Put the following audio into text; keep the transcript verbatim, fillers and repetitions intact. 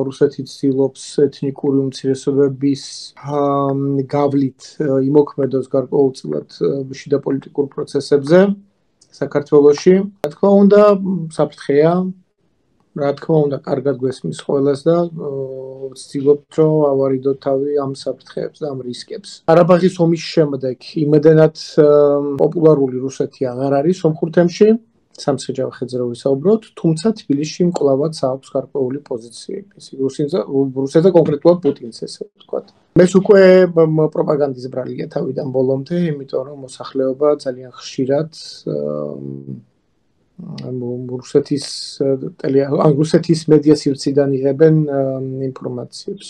რუსეთი ცდილობს ეთნიკური უმცირესობების გავლით იმოქმედოს გარკვეულწილად შიდა პოლიტიკურ პროცესებზე საქართველოში. Რა თქმა უნდა, საფრთხეა, რა თქმა უნდა, კარგად გვესმის ყველას და ვცდილობთ, რომ ავარიდოთ თავი ამ საფრთხეებს და ამ რისკებს. ყარაბაღის ომის შემდეგ იმედენად პოპულარული რუსეთი აღარ არის სომხურ თემში. სამცხე-ჯავახეთზე ხეძრო ვისაუბროთ, თუმცა თბილისში მკლავად აქვს გარკვეული პოზიციები. რუსეთს და კონკრეტულად პუტინს, ესე ვთქვათ. Mēs უკვე პროპაგანდის ბრალია თავიდან ბოლომდე, იმიტომ რომ მოსახლეობა ძალიან ხშირად რუსეთის რუსეთის მედია სივრციდან იღებენ ინფორმაციებს.